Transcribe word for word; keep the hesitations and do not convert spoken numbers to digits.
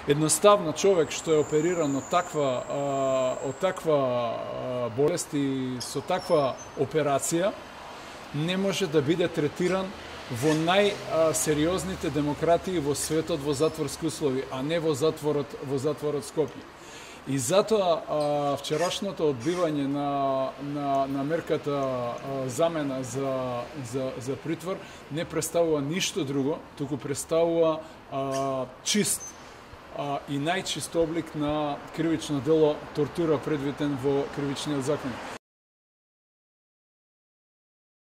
Едноставно човек што е опериран од таква од таква болест и со таква операција не може да биде третиран во најсериозните демократии во светот во затворски услови, а не во затворот во затворот Скопје. И затоа а, вчерашното одбивање на, на, на мерката а, замена за, за, за притвор не представува ништо друго, туку представува а, чист а, и најчист облик на кривично дело тортура предвиден во кривичниот закон.